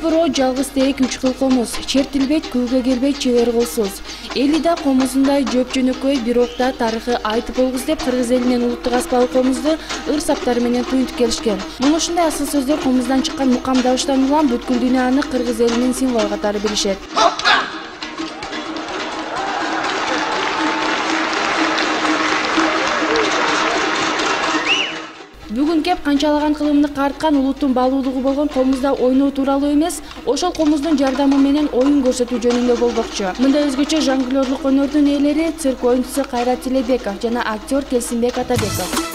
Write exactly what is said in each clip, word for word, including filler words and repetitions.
буроо, жалгыз терек үч кыл комуз. Чертилбейт, күүгө келбейт чебер колсуз. Эли да комузундай жөп жөнөкөй, бирок да тарыхы айтып болгус деп кыргыз элинен улуттук аспабы комузду ыр саптары менен туюнтуп келишкен. Муну ушундай асыл сөздөр комуздан чыккан мукам дабыштан улам бүткүл дүйнө аны кыргыз элинин символу катары билишет. Бүгүн кеп канчалаган кылымды карткан улуттун баалуулугу болгон комузда ойноо тууралуу эмес, ошол комуздун жардамы менен оюн көрсөтүү жөнүндө болбокчу. Мындай өзгөчө жонглёрлук өнөрдүн ээлери цирк оюнчусу Кайрат Тилебеков жана актер Келсинбек Атабеков.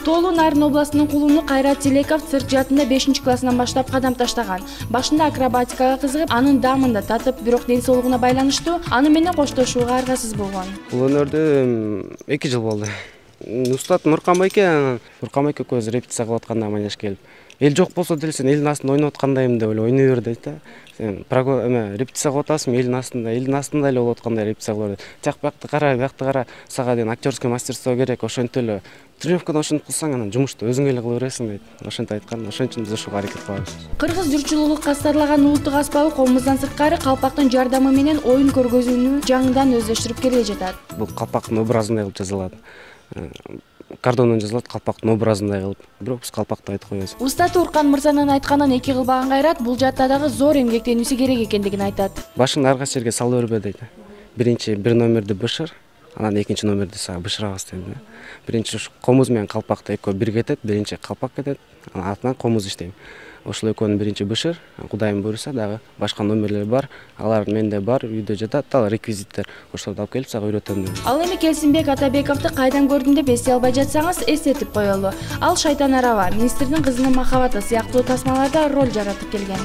Тоолуу Нарын областынын кулуну Кайрат Тилебеков цирк жаатында бешинчи классынан баштап кадам таштаган. Башында акробатикага кызыгып, анын даамында татып, бирок ден соолугуна байланыштуу аны менен коштошууга аргасыз болгон. Бул өнөрдү эки жыл болду. Устат Нуркан байке, Нуркан байке көз репетиция кылып атканда манеш келип, эл жок болсо деле сен элдин астында ойноп аткандайым деп эле ойной бер дейт да. Сен эме репетиция кылып атасың, элдин астында, элдин астында эле болуп аткандай репетиция кылып. Жак бакты кара, бакты кара, сага деген актерский мастерство керек, ошентип эле тренировкада ошентип кылсаң анан жумушту өзүң эле кыла бересиң дейт. Ошентип айткан, ошон үчүн биз ушуга аракет кылабыз. Кыргыз журчулугу кастарлаган улуттук аспабы комуздан сырткары калпактын жардамы менен оюн көргөзүүнү жаңыдан өздөштүрүп келе жатат. Бул калпактын образындай кылып жазылат. Кардондон жазылат, калпактын образындай кылып. Бирок биз калпакты айтып коебуз. Устат Уркан мырзанын айтканын эки кылбаган Кайрат бул жаатта дагы зор эмгектенүүсү керек экендигин айтат. Башыңды ар кайсы жерге сала бербе дейт. Биринчи бир номерди бышыр, анан экинчи номерди сага бышырабыз дейт. Биринчи комуз менен калпакты экөө бир кетет, биринчи калпак кетет, анан артынан комуз иштейм. Ошол экөөнү биринчи бышыр, Кудайым буйруса дагы башка номерлер бар, алар менде бар, үйдө жатат, ал реквизиттер. Ошолорду алып келип сага үйрөтөм деп. Ал эми Келсинбек Атабековду кайдан көрдүм деп эстей албай жатсаңыз, эстетип коелу. Ал Шайтан араба, министрдин кызынын махабаты сыяктуу тасмаларда роль жаратып келген.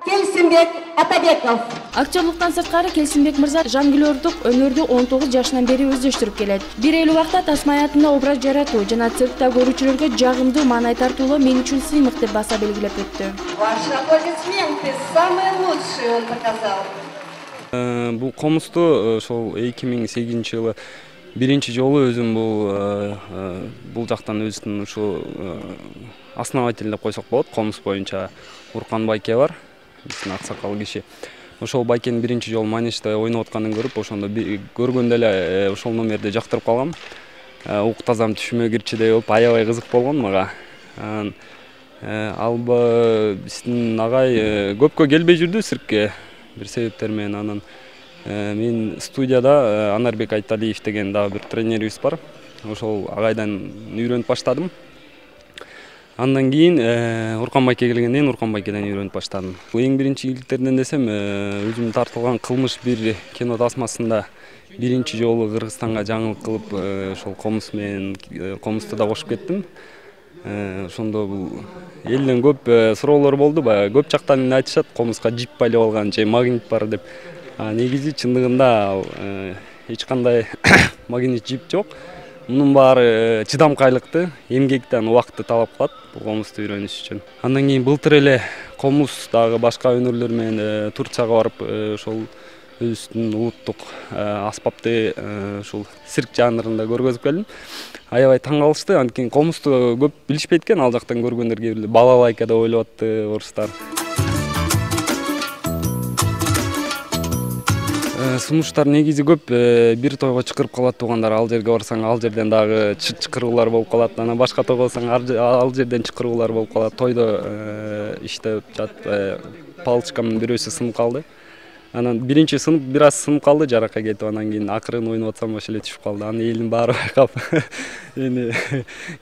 Келсинбек Атабеков. Актерлуктан сырткары Келсинбек мырза жонглёрдук өнөрдү он тогуз жашынан бери өздөштүрүп келет. Бир элүү убакта тасма аятында образ жаратуу жана циркта көрүүчүлөргө жагымдуу маанай тартуулоо мен үчүн сыймык деп баса белгилеп өттү. Ваши аплодисменты, самые лучшие он показал. Бул комузду ошол эки миң сегизинчи жылы биринчи жолу өзүм бул бул жактан өзүнүн ушу основатель деп койсок болот. Комуз боюнча Уркан байке бар, биздин аксакал киши. Ошол байкенин биринчи жолу манежде ойноп атканын көрүп, ошондо көргөндө эле ошол номерди жактырып калгам. Ук тазам түшүмө кирчидей болуп, аябай кызык болгон мага. Анан алба биздин агай көпкө келбей жүрдү циркке бир себептер менен. Анан мен студияда Анарбек Айталиев деген дагы бир тренерибиз бар. Ошол агайдан үйрөнүп баштадым. Андан кийин Уркан байке келгенден кийин Уркан байкеден үйрөнүп баштадым. Эң биринчи ийгиликтеринен десем, өзүм тартылган кылмыш бир кино тасмасында биринчи жолу Кыргызстанга жаңылык кылып, ошол комуз менен комузду да кошуп кеттим. Ошондо бул элден көп суроолор болду. Баягы көп жактан эмне айтышат, комузга жип байлап алган же магнит бар деп. Негизи чындыгында эч кандай магнит жип жок. Мунун баары чыдамкайлыкты, эмгектен убакытты талап кылат бул комузду үйрөнүш үчүн. Андан кийин былтыр эле комуз дагы башка өнөрлөр менен Турцияга барып, ошол өзүбүздүн улуттук аспапты ушул цирк жанрында көргөзүп келдим. Аябай таң калышты. Анткени комузду көп билишпейт экен, ал жактан көргөндөр кээ бир балалайка деп ойлоп атты орустар. Сунуштар негизи көп бир тойго чакырып калат туугандар, ал жерге барсаң ал жерден дагы чакыруулар болуп калат. Анан башка тойго барсаң ал жерден чакыруулар болуп калат. Тойдо иштеп жатып палочкамдын бирөөсү сынып калды. Анан биринчи сынып, бир аз сынып калды, жаракка кетип, анан кийин акырын ойноп атсам ошол эле түшүп калды. Аны элдин баары байкап, эми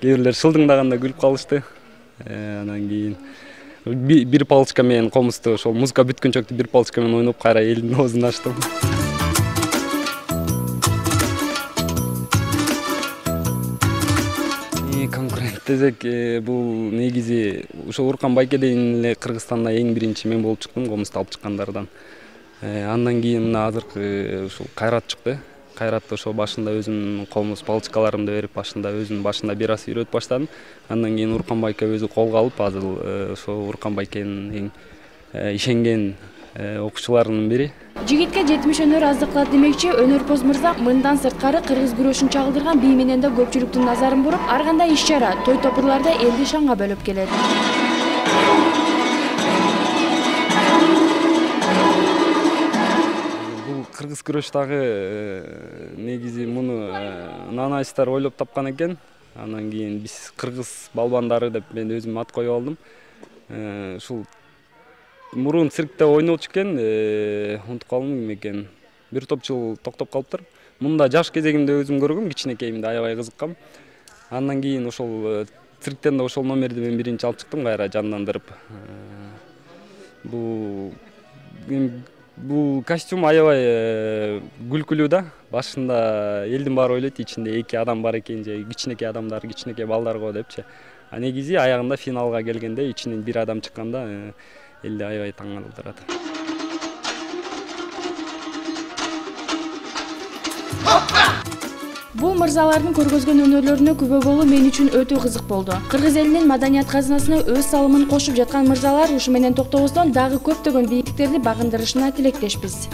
кээ бирлер шылдыңдаганда күлүп калышты. Анан кийин бир палочка менен комузду ошол музыка бүткөнчөктү бир палочка менен ойноп кайра элдин оозун ачтым. Конкурент десек, бул негизи ошол Уркан байкеден эле Кыргызстанда эң биринчи мен болуп чыктым, комузду алып чыккандардан. Андан кийин мына азыркы ушул Кайрат чыкты. Кайратты ошол башында өзүмдүн комуз палочкаларымды берип, башында өзүм башында бир аз үйрөтүп баштадым. Андан кийин Уркан байке өзү колго алып, азыр ошол Уркан байкенин эң ишенген окуучулардын бири. Жигитке жетимиш өнөр аздык кылат демекчи Өнөрпоз мырза мындан сырткары кыргыз күрөшүн чагылдырган бий менен да көпчүлүктүн назарын буруп, ар кандай иш-чара, той топурларда элди шаңга бөлөп келет. Бул кыргыз күрөш дагы негизи муну нанайстар ойлоп тапкан экен. Анан кийин биз кыргыз балбандары деп мен өзүм ат коюп алдым. Ушул мурун циркте ойночу экен, унутуп калдым ким экен. Бир топ жыл токтоп калыптыр. Мында жаш кезегимде өзүм көргөм, кичинекейимде аябай кызыккам. Андан кийин ошол цирктен да ошол номерди мен биринчи алып чыктым, кайра жандандырып. Бул бул костюм аябай күлкүлүү да. Башында элдин баары ойлойт, ичинде эки адам бар экен, же кичинекей адамдар, кичинекей балдар го депчи. А негизи аягында финалга келгенде ичинен бир адам чыкканда элди аябай таң калтырат. Бул мырзалардын көргөзгөн өнөрлөрүнө күбө болуу мен үчүн өтө кызык болду. Кыргыз элинин маданият казынасына өз салымын кошуп жаткан мырзалар ушу менен токтобостон дагы көптөгөн бийиктиктерди багындырышына тилектешпиз.